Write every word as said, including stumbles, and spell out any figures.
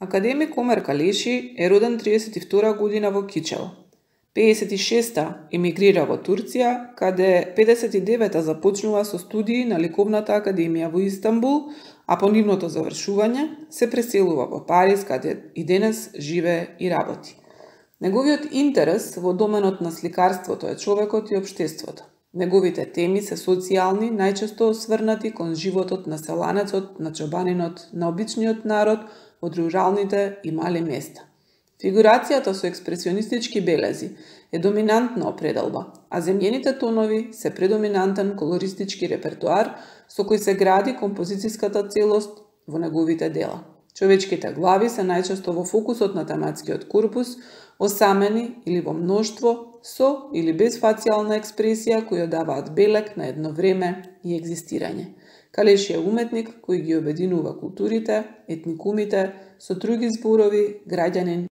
Академик Омер Калеши е роден триесет и втора година во Кичево. пеесет и шеста емигрира во Турција, каде педесет и девета започнува со студии на Ликовната академија во Истанбул, а по нивното завршување се преселува во Париз, каде и денес живее и работи. Неговиот интерес во доменот на сликарството е човекот и општеството. Неговите теми се социјални, најчесто осврнати кон животот на селанецот, на чобанинот, на обичниот народ од руралните и мали места. Фигурацијата со експресионистички белези е доминантна определба, а земјените тонови се предоминантен колористички репертоар со кој се гради композицијската целост во неговите дела. Човечките глави се најчесто во фокусот на тематскиот корпус, осамени или во мноштво, со или без фацијална експресија кои даваат белег на едно време и екзистирање. Калеши е уметник кој ги обединува културите, етникумите, со други зборови, граѓанин